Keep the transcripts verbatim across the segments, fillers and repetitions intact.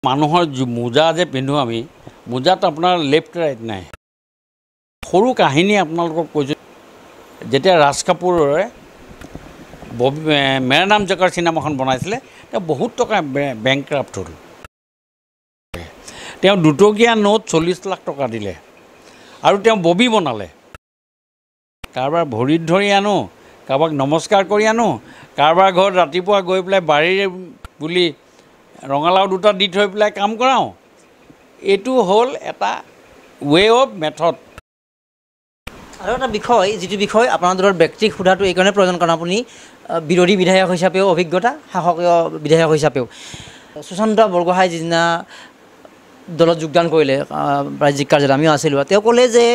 মানুহৰ মোজা যে পিন্ধো আমি, মোজাত আপোনাৰ লেফ্ট ৰাইট নাই। সৰু কাহিনী আপোনালোকক কৈছোঁ, যেতিয়া ৰাজ কাপুৰে ববি মেৰা নাম জকাৰ চিনেমাখন বনাইছিলে, তেওঁ বহুত টকা বেংক্ৰাফ্ট হ'ল। তেওঁ দুটকীয়া নোট চল্লিছ লাখ টকা দিলে আৰু তেওঁ ববি বনালে। কাৰোবাৰ ভৰিত ধৰি আনো, কাৰোবাক নমস্কাৰ কৰি আনো, কাৰোবাৰ ঘৰত ৰাতিপুৱা গৈ পেলাই বাৰীৰে বুলি ৰঙালাও দুটা দি থৈ পেলাই কাম কৰাওঁ। এইটো হ'ল এটা ৱে অফ মেথড। আৰু এটা বিষয়, যিটো বিষয় আপোনাৰ দলৰ ব্যক্তিক সোধাটো এইকাৰণে প্ৰয়োজন, কাৰণ আপুনি বিৰোধী বিধায়ক হিচাপেও অভিজ্ঞতা, শাসকীয় বিধায়ক হিচাপেও। সুশান্ত বৰগোহাঁই যিদিনা দলত যোগদান কৰিলে ৰাজ্যিক কাৰ্যালয়ত, আমিও আছিলোঁ, তেওঁ ক'লে যে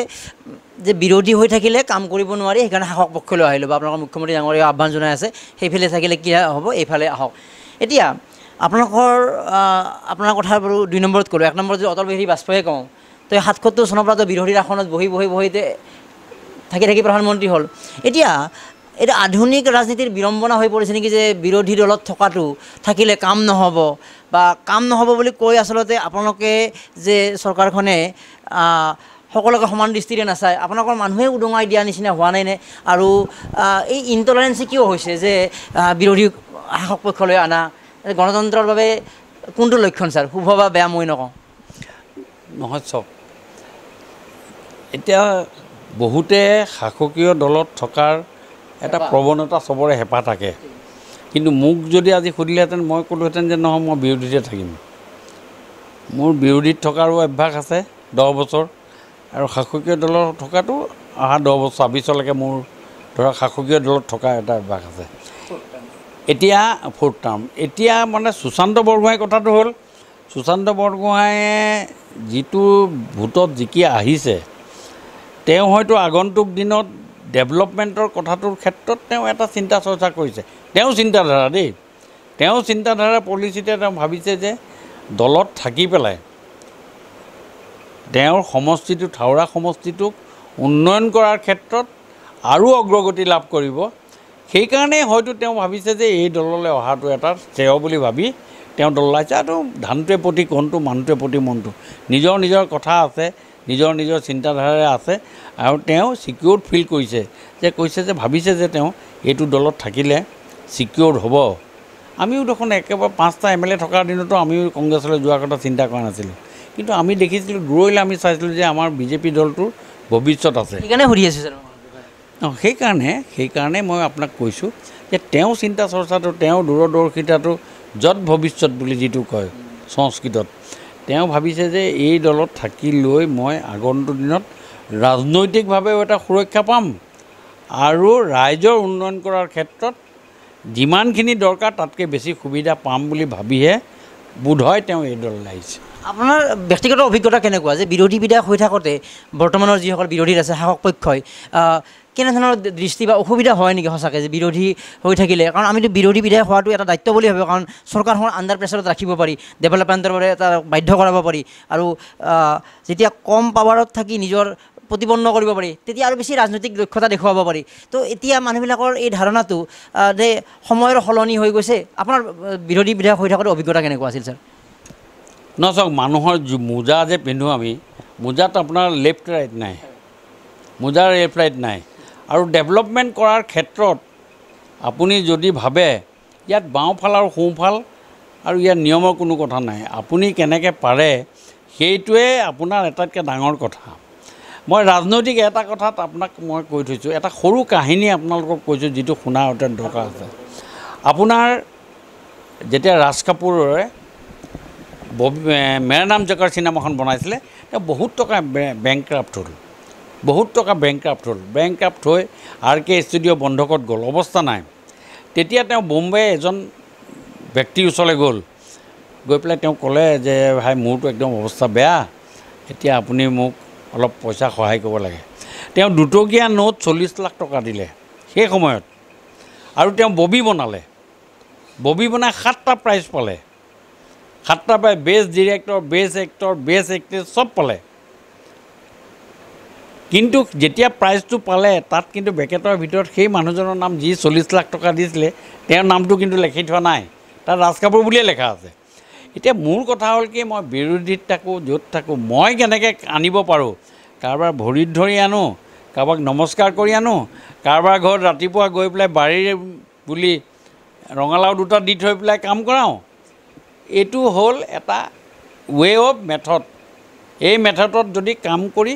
যে বিৰোধী হৈ থাকিলে কাম কৰিব নোৱাৰি, সেইকাৰণে শাসক পক্ষলৈ আহিলোঁ, বা আপোনালোকৰ মুখ্যমন্ত্ৰী ডাঙৰীয়া আহ্বান জনাই আছে সেইফালে থাকিলে কি হ'ব, এইফালে আহক। এতিয়া আপোনালোকৰ আপোনাৰ কথা বাৰু দুই নম্বৰত ক'লোঁ, এক নম্বৰত যদি অটল বিহাৰী বাজপেয়ীয়ে কওঁ, তো সাতসত্তৰ চনৰ পৰাতো বিৰোধীৰ আসনত বহি বহি বহিতে থাকি থাকি প্ৰধানমন্ত্ৰী হ'ল। এতিয়া এইটো আধুনিক ৰাজনীতিৰ বিড়ম্বনা হৈ পৰিছে নেকি যে বিৰোধী দলত থকাটো থাকিলে কাম নহ'ব, বা কাম নহ'ব বুলি কৈ আচলতে আপোনালোকে যে চৰকাৰখনে সকলোকে সমান দৃষ্টিৰে নাচায়, আপোনালোকৰ মানুহে উদঙাই দিয়া নিচিনা হোৱা নাই নে? আৰু এই ইনটলাৰেঞ্চি কিয় হৈছে যে বিৰোধী শাসক পক্ষলৈ অনা গণতন্ত্ৰৰ বাবে কোনটো লক্ষণ ছাৰ, শুভ বা বেয়া মই নকওঁ। নহয় চাওক, এতিয়া বহুতে শাসকীয় দলত থকাৰ এটা প্ৰৱণতা চবৰে হেঁপাহ থাকে, কিন্তু মোক যদি আজি সুধিলেহেঁতেন মই ক'লোহেঁতেন যে নহয়, মই বিৰোধীতে থাকিম। মোৰ বিৰোধীত থকাৰো অভ্যাস আছে দহ বছৰ, আৰু শাসকীয় দলত থকাটো অহা দহ বছৰ ছাব্বিছলৈকে মোৰ ধৰক শাসকীয় দলত থকা এটা অভ্যাস আছে। এতিয়া ফ'ৰ্থ টাৰ্ম। এতিয়া মানে সুশান্ত বৰগোহাঁইৰ কথাটো হ'ল, সুশান্ত বৰগোহাঁয়ে যিটো ভোটত জিকি আহিছে, তেওঁ হয়তো আগন্তুক দিনত ডেভেলপমেণ্টৰ কথাটোৰ ক্ষেত্ৰত তেওঁ এটা চিন্তা চৰ্চা কৰিছে। তেওঁ চিন্তাধাৰা দেই, তেওঁ চিন্তাধাৰা পলিচিতে তেওঁ ভাবিছে যে দলত থাকি পেলাই তেওঁৰ সমষ্টিটো, থাওৰা সমষ্টিটোক উন্নয়ন কৰাৰ ক্ষেত্ৰত আৰু অগ্ৰগতি লাভ কৰিব। সেইকাৰণেই হয়তো তেওঁ ভাবিছে যে এই দললৈ অহাটো এটা শ্ৰেয় বুলি ভাবি তেওঁ দললৈ আহিছে। আৰু ধানটোৱে প্ৰতি কণটো, মানুহটোৱে প্ৰতি মনটো, নিজৰ নিজৰ কথা আছে, নিজৰ নিজৰ চিন্তাধাৰাৰে আছে, আৰু তেওঁ ছিকিউৰ্ড ফিল কৰিছে যে কৈছে যে ভাবিছে যে তেওঁ এইটো দলত থাকিলে ছিকিউৰ্ড হ'ব। আমিও দেখোন একেবাৰে পাঁচটা এম এল এ থকাৰ দিনতো আমিও কংগ্ৰেছলৈ যোৱাৰ কথা চিন্তা কৰা নাছিলোঁ, কিন্তু আমি দেখিছিলোঁ, দূৰৈলৈ আমি চাইছিলোঁ যে আমাৰ বিজেপি দলটোৰ ভৱিষ্যত আছে। সেইকাৰণে সুধি আছোঁ ছাৰ। অঁ, সেইকাৰণে সেইকাৰণে মই আপোনাক কৈছোঁ যে তেওঁ চিন্তা চৰ্চাটো, তেওঁ দূৰদৰ্শিতাটো, য'ত ভৱিষ্যত বুলি যিটো কয় সংস্কৃতত, তেওঁ ভাবিছে যে এই দলত থাকি লৈ মই আগন্তুক দিনত ৰাজনৈতিকভাৱেও এটা সুৰক্ষা পাম আৰু ৰাইজৰ উন্নয়ন কৰাৰ ক্ষেত্ৰত যিমানখিনি দৰকাৰ তাতকৈ বেছি সুবিধা পাম বুলি ভাবিহে বোধহয় তেওঁ এই দললৈ আহিছে। আপোনাৰ ব্যক্তিগত অভিজ্ঞতা কেনেকুৱা যে বিৰোধী বিধায়ক হৈ থাকোঁতে বৰ্তমানৰ যিসকল বিৰোধীত আছে শাসক পক্ষই কেনেধৰণৰ দৃষ্টি বা অসুবিধা হয় নেকি সঁচাকৈ যে বিৰোধী হৈ থাকিলে? কাৰণ আমিতো বিৰোধী বিধায়ক হোৱাটো এটা দায়িত্ব বুলি ভাবোঁ, কাৰণ চৰকাৰখন আণ্ডাৰ প্ৰেছাৰত ৰাখিব পাৰি, ডেভেলপমেণ্টৰ বাবে এটা বাধ্য কৰাব পাৰি, আৰু যেতিয়া কম পাৱাৰত থাকি নিজৰ প্ৰতিপন্ন কৰিব পাৰি তেতিয়া আৰু বেছি ৰাজনৈতিক দক্ষতা দেখুৱাব পাৰি। তো এতিয়া মানুহবিলাকৰ এই ধাৰণাটো যে সময়ৰ সলনি হৈ গৈছে, আপোনাৰ বিৰোধী বিধায়ক হৈ থকাটো অভিজ্ঞতা কেনেকুৱা আছিল ছাৰ? নহয় চাওক, মানুহৰ মোজা যে পিন্ধো আমি, মোজাত আপোনাৰ লেফ্ট ৰাইট নাই, মোজাৰ লেফ্ট ৰাইট নাই। আৰু ডেভেলপমেণ্ট কৰাৰ ক্ষেত্ৰত আপুনি যদি ভাবে ইয়াত বাওঁফাল আৰু সোঁফাল আৰু ইয়াৰ নিয়মৰ কোনো কথা নাই, আপুনি কেনেকৈ পাৰে সেইটোৱে আপোনাৰ আটাইতকৈ ডাঙৰ কথা। মই ৰাজনৈতিক এটা কথাত আপোনাক মই কৈ থৈছোঁ, এটা সৰু কাহিনী আপোনালোকক কৈছোঁ যিটো শুনাৰ অত্যন্ত দৰকাৰ আছে। আপোনাৰ যেতিয়া ৰাজ কাপুৰে ববি মেৰা নাম জকাৰ চিনেমাখন বনাইছিলে, তেওঁ বহুত টকা বেংক্ৰাফ্ট হ'ল, বহুত টকা বেংক্ৰাফ্ট হ'ল। বেংক্ৰাফ্ট হৈ আৰ কে ষ্টুডিঅ' বন্ধকত গ'ল, অৱস্থা নাই। তেতিয়া তেওঁ বোম্বে এজন ব্যক্তিৰ ওচৰলৈ গ'ল, গৈ পেলাই তেওঁ ক'লে যে ভাই মোৰতো একদম অৱস্থা বেয়া, এতিয়া আপুনি মোক অলপ পইচা সহায় কৰিব লাগে। তেওঁ দুটকীয়া নোট চল্লিছ লাখ টকা দিলে সেই সময়ত, আৰু তেওঁ ববি বনালে। ববি বনাই সাতটা প্ৰাইজ পালে, সাতটা পাই best director, best actor, best actress চব পালে। কিন্তু যেতিয়া প্ৰাইজটো পালে তাত কিন্তু বেকেটৰ ভিতৰত সেই মানুহজনৰ নাম যি চল্লিছ লাখ টকা দিছিলে তেওঁৰ নামটো কিন্তু লিখি থোৱা নাই, তাত ৰাজ কাপুৰ বুলিয়ে লেখা আছে। এতিয়া মোৰ কথা হ'ল কি, মই বিৰোধীত থাকোঁ, য'ত থাকোঁ, মই কেনেকৈ আনিব পাৰোঁ, কাৰোবাৰ ভৰিত ধৰি আনো, কাৰোবাক নমস্কাৰ কৰি আনো, কাৰোবাৰ ঘৰত ৰাতিপুৱা গৈ পেলাই বাৰীৰ বুলি ৰঙালাও দুটা দি থৈ পেলাই কাম কৰাওঁ, এইটো হ'ল এটা ৱে অফ মেথড। এই মেথডত যদি কাম কৰি,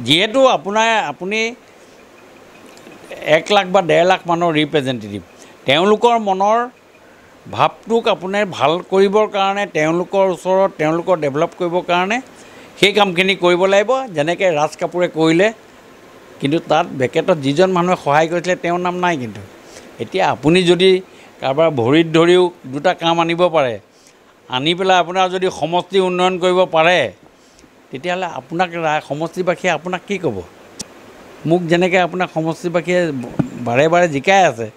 যিহেতু আপোনাৰ আপুনি এক লাখ বা ডেৰ লাখ মানুহৰ ৰিপ্ৰেজেণ্টেটিভ, তেওঁলোকৰ মনৰ ভাৱটোক আপুনি ভাল কৰিবৰ কাৰণে, তেওঁলোকৰ ওচৰত তেওঁলোকৰ ডেভেলপ কৰিবৰ কাৰণে সেই কামখিনি কৰিব লাগিব, যেনেকৈ ৰাজ কাপুৰে কৰিলে। কিন্তু তাত বেকেটত যিজন মানুহে সহায় কৰিছিলে তেওঁৰ নাম নাই। কিন্তু এতিয়া আপুনি যদি কাৰোবাৰ ভৰিত ধৰিও দুটা কাম আনিব পাৰে, আনি পেলাই আপোনাৰ যদি সমষ্টি উন্নয়ন কৰিব পাৰে, তেতিয়াহ'লে আপোনাক সমষ্টিবাসীয়ে আপোনাক কি ক'ব? মোক যেনেকৈ আপোনাক সমষ্টিবাসীয়ে বাৰে বাৰে জিকাই আছে,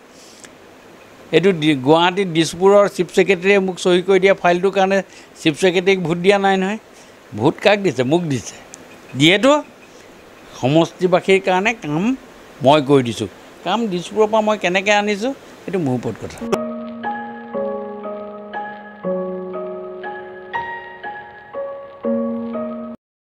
এইটো গুৱাহাটীত দিছপুৰৰ চিফ ছেক্ৰেটেৰীয়ে মোক চহী কৰি দিয়া ফাইলটোৰ কাৰণে চিফ ছেক্ৰেটেৰীক ভোট দিয়া নাই নহয়, ভোট কাক দিছে? মোক দিছে। যিহেতু সমষ্টিবাসীৰ কাৰণে কাম মই কৰি দিছোঁ, কাম দিছপুৰৰ পৰা মই কেনেকৈ আনিছোঁ সেইটো মোৰ ওপৰত কথা।